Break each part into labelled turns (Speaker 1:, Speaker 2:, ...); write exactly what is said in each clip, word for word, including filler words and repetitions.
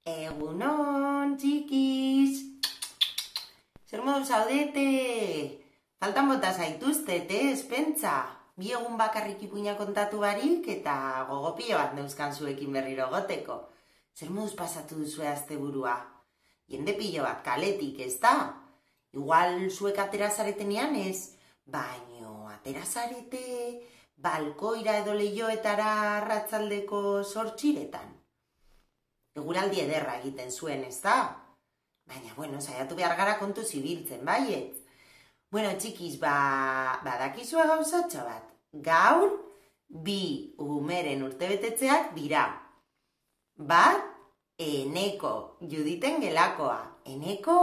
Speaker 1: Egunon, txikiz! Zer modu zaudete? Faltan bota zaituztet, ez, pentsa? Bi egun bakarrik ipuina kontatu barik eta gogopio bat neuzkan zuekin berriro goteko. Zer moduz pasatu duzue asteburua? Jende pilo bat kaletik, ez da? Igual zuek atera zaretenean ez, baino atera zarete balkoira edo lehioetara arratsaldeko zortziretan. Eguraldi ederra egiten zuen, ez da? Baina, bueno, saiatu behar gara kontu zibiltzen, baiet? Bueno, txikiz, ba, badakizua gauzatxo bat. Gaur, bi umeren urtebetetzeak dira. Bat, Eneko, Juditen gelakoa. Eneko!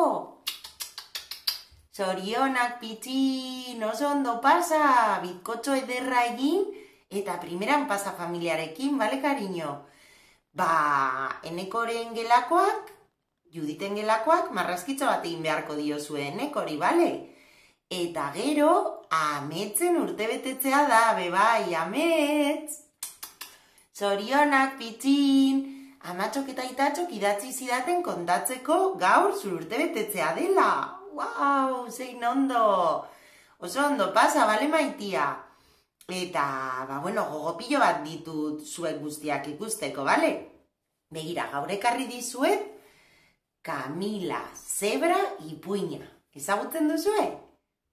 Speaker 1: Zorionak pitxin, oso ondo pasa, bizkotxo ederra egin, eta primeran pasa familiarekin, bale, cariño? Ba, Enekoren gelakoak, Juditen gelakoak, marrazkitxo bat egin beharko diozue Enekori, bale? Eta gero, Ametzen urtebetetzea da, bebai, Amets! Zorionak, pitxin! Amatxok eta itatxok idatzi zidaten kontatzeko gaur zur urtebetetzea dela! Wow, zein ondo! Oso ondo pasa, bale, maitia? Eta, ba, bueno, gogopillo bat ditut zuek guztiak ikusteko, bale? Begira, gaur ekarri dizuet, Kamila zebra ipuina. Ezagutzen duzue?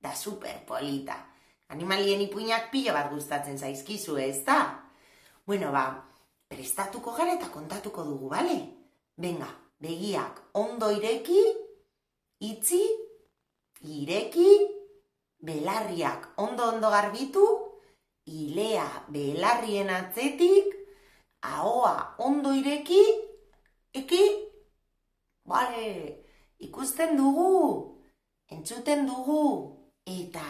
Speaker 1: Da super polita. Animalien ipuinak pilo bat gustatzen zaizkizue, ez da? Bueno, ba, prestatuko gara eta kontatuko dugu, bale? Venga, begiak ondo ireki, itzi, ireki, belarriak ondo-ondo garbitu, ilea belarrien atzetik, ahoa ondo ireki, eki, bale, ikusten dugu, entzuten dugu, eta,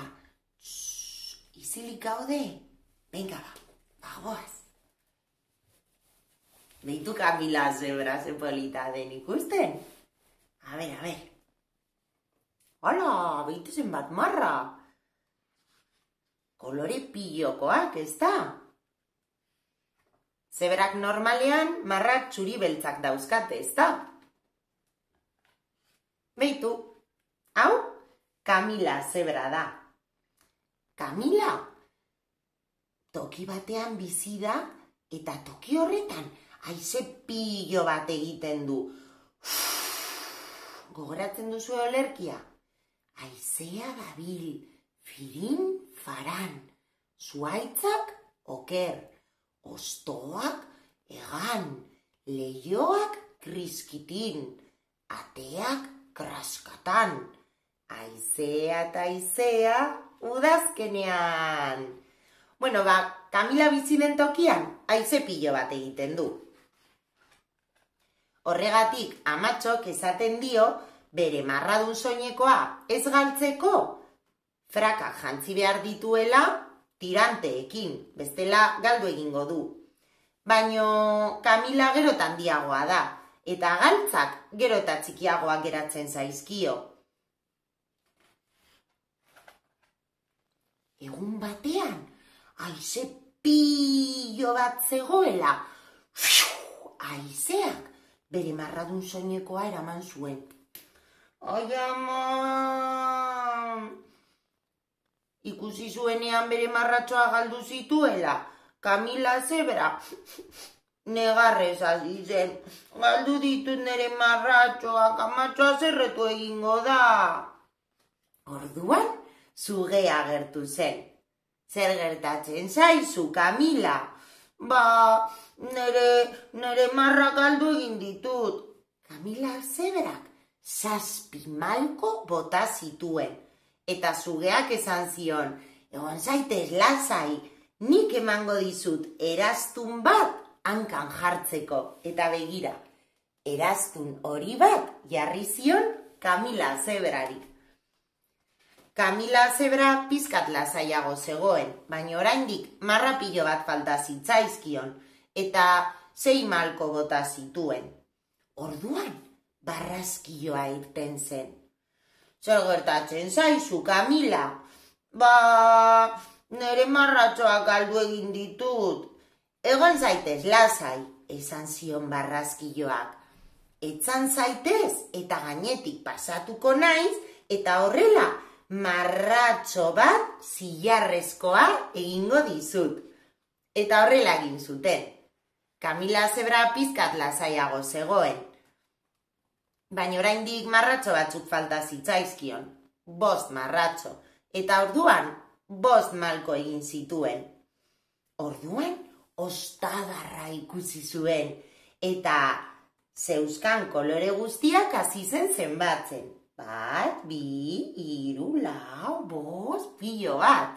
Speaker 1: txss, izilik gaude, venga ba, bagoaz. Beitu Kamila zebra ze polita den ikusten? A ber, a ber. Hala, beitu zenbat marra. Kolore pilokoak, ez da? Zebrak normalean marrak txuri beltzak dauzkate, ez da? Beitu, hau, Kamila zebra da. Kamila, toki batean bizi da, eta toki horretan haize pilo bat egiten du. Gogoratzen duzu olerkia? Haizea dabil, firin faran, zuaitzak oker, ostoak egan, lehioak kriskitin, ateak kraskatan, haizea eta haizea udazkenean. Bueno, ba, Kamila bizi den tokian, haize pilo bat egiten du. Horregatik, amatxok esaten dio, bere marradun soinekoa ez galtzeko, frakak jantzi behar dituela tiranteekin, bestela galdu egingo du. Baino Kamila gero eta handiagoa da, eta galtzak gero eta txikiagoak geratzen zaizkio. Egun batean, haize pilo bat zegoela, haizeak bere marradun soinekoa eraman zuen. Ai, ama! Ikusi zuenean bere marratxoa galdu zituela, Kamila zebra negarrez hasi zen. Galdu ditut nire marratxoak, amatxoa zerretu egingo da. Orduan, zugea agertu zen. Zer gertatzen zaizu, Kamila? Ba, nire, nire marra galdu egin ditut. Kamila zeberak zazpi malko bota zituen. Eta zugeak esan zion, egon zaitez lasai, nik emango dizut eraztun bat hankan jartzeko. Eta begira, eraztun hori bat jarri zion Kamila zeberari. Kamila zebra pizkat lasaiago zegoen, baina oraindik marra pilo bat falta zitzaizkion, eta sei malko bota zituen. Orduan, barrazkioa irten zen. Zer gertatzen zaizu, Kamila? Ba, nire marratxoak galdu egin ditut. Egon zaitez lasai, esan zion barrazkioak. etzan zaitez eta gainetik pasatuko naiz, eta horrela marratxo bat zilarrezkoa egingo dizut. Eta horrela egin zuten. Kamila zebra pizkat lasaiago zegoen. Baina oraindik marratxo batzuk falta zitzaizkion. Bost marratxo. Eta orduan, bost malko egin zituen. Orduan, ostadarra ikusi zuen. Eta zeuzkan kolore guztiak hasi zen zenbatzen. Bat, bi, hiru, lau, bost, pilo bat.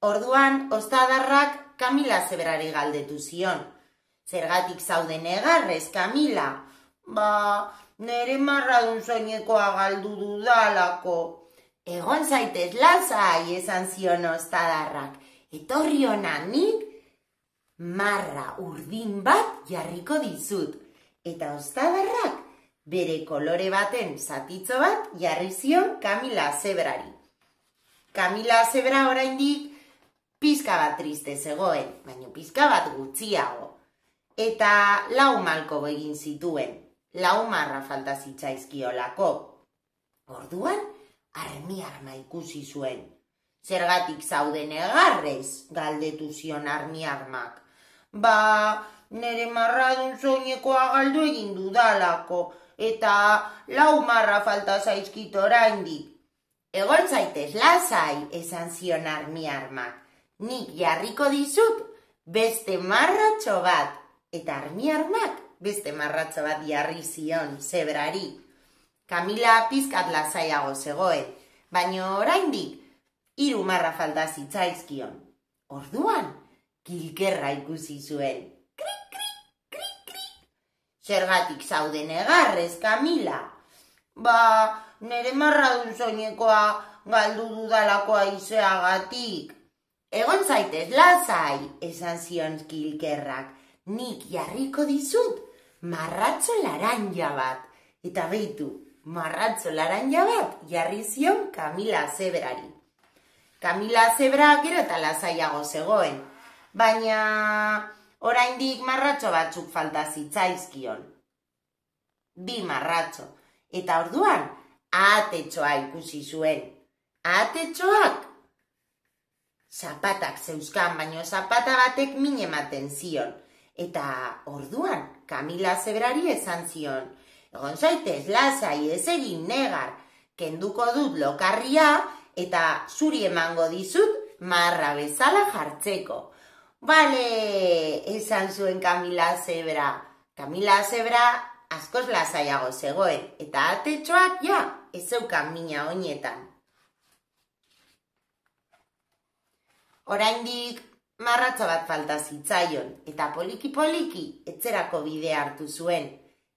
Speaker 1: Orduan, ostadarrak Kamila zebrari galdetu zion. Zergatik zauden negarrez, Kamila? Ba, nere marradun soinekoa galdu dudalako. Egon zaitez lasai, esan zion ostadarrak. Etorri hona nik marra urdin bat jarriko dizut. Eta ostadarrak bere kolore baten zatitzo bat jarri zion Kamila zebrari. Kamila zebra oraindik pizka bat triste zegoen, baina pizka bat gutxiago. Eta lau malko egin zituen, lau marra falta zitzaizkiolako. Orduan, armi arma ikusi zuen. Zergatik zauden negarrez, galdetu zion armi armak. Ba, nere marradun soinekoa galdu egin dudalako, eta lau marra falta zaizkit oraindik. Egon zaitez lasai, esan zion armi armak. Nik jarriko dizut beste marratxo bat. Eta armi armak beste marratxo bat jarri zion zebrari. Kamila pizkat lasaiago zegoen, baina oraindik hiru marra falta zitzaizkion. Orduan, kilkerra ikusi zuen. Krik, krik, krik, krik. Zergatik zauden negarrez, Kamila? Ba, nere marradun soinekoa galdu dudalako haizeagatik. Egon zaitez lasai, esan zion kilkerrak. Nik jarriko dizut marratxo laranja bat. Eta behitu, marratxo laranja bat jarri zion Kamila zebrari. Kamila zebra gero eta lasaiago zegoen, baina oraindik marratxo batzuk falta zitzaizkion. Bi marratxo. Eta orduan, ahatetxoa ikusi zuen. Ahatetxoak zapatak zeuzkan, baino zapata batek min ematen zion. Eta orduan, Kamila zebrari esan zion, egon zaitez lasai ez egin negar, kenduko dut lokarria eta zuri emango dizut marra bezala jartzeko. Bale, esan zuen Kamila zebra. Kamila zebra askoz lasaiago zegoen, eta atetxoak ja, ez zeukan mina oinetan. Oraindik marratxo bat falta zitzaion, eta poliki-poliki etxerako bidea hartu zuen.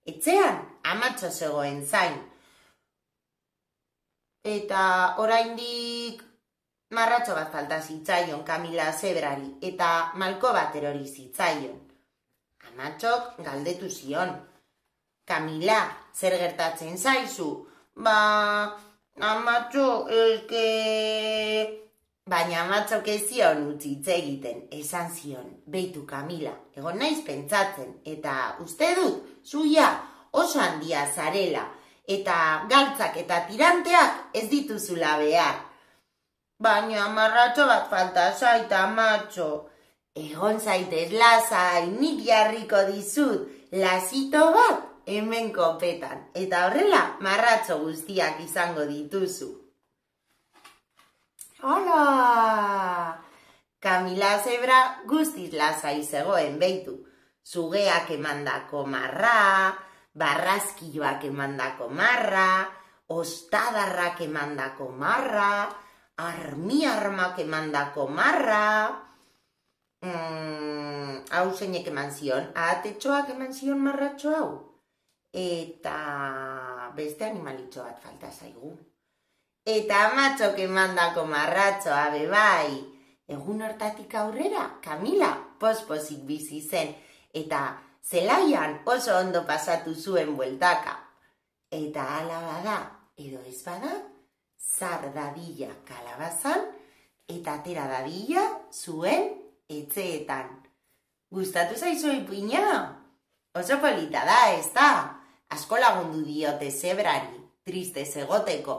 Speaker 1: Etxean amatxo zegoen zain. Eta oraindik marratxo bat falta zitzaion Kamila zebrari, eta malko bat erori zitzaion. Amatxok galdetu zion. Kamila, zer gertatzen zaizu? Ba, amatxo, eske... Baina amatxok ez zion utzi hitz egiten, esan zion, beitu Kamila, egon naiz pentsatzen, eta uste dut, zuia oso handia zarela, eta galtzak eta tiranteak ez dituzula behar. Baina marratxo bat falta zait, amatxo. Egon zaitez lasai, nik jarriko dizut, lasito bat hemen kopetan, eta horrela marratxo guztiak izango dituzu. Hola! Kamila zebra guztiz lasai zegoen beitu. Zugeak emandako marra, barrazkioak emandako marra, ostadarrak emandako marra, armi armak emandako marra, mm, hau zeinek eman zion, ahatetxoak eman zion marratxo hau. Eta beste animalitxo bat falta zaigu. Eta amatxok emandako marratxoa bebai. Egun hortatik aurrera, Kamila pospozik bizi zen, eta zelaian oso ondo pasatu zuen bueltaka. Eta hala bada, edo ez bada, zar dadila kalabazan, eta atera dadila zuen etxeetan. Gustatu zaizu ipuina? Oso polita da, ez da? asko lagundu diote zebrari, triste egoteko.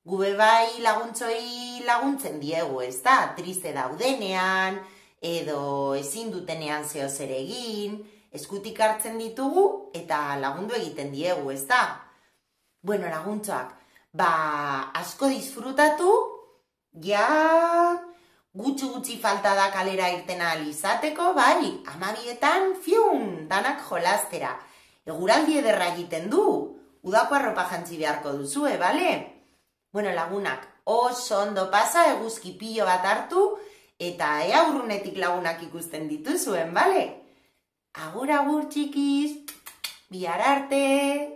Speaker 1: Gube bai laguntzoi laguntzen diegu, ez da? Triste daudenean, edo ezin dutenean zeo zer egin, eskutik hartzen ditugu eta lagundu egiten diegu, ez da? Bueno, laguntzoak, ba, asko disfrutatu, ja, gutxi gutxi falta da kalera irten ahal izateko, bai, amabietan, fiun, danak jolastera. Eguraldi ederra egiten du, udako arropa jantzi beharko duzue, bale? Bueno, lagunak, oso ondo pasa, eguzki pilo bat hartu, eta ea urrunetik lagunak ikusten dituzuen, bale? Agur, agur, txikiz, bihar arte!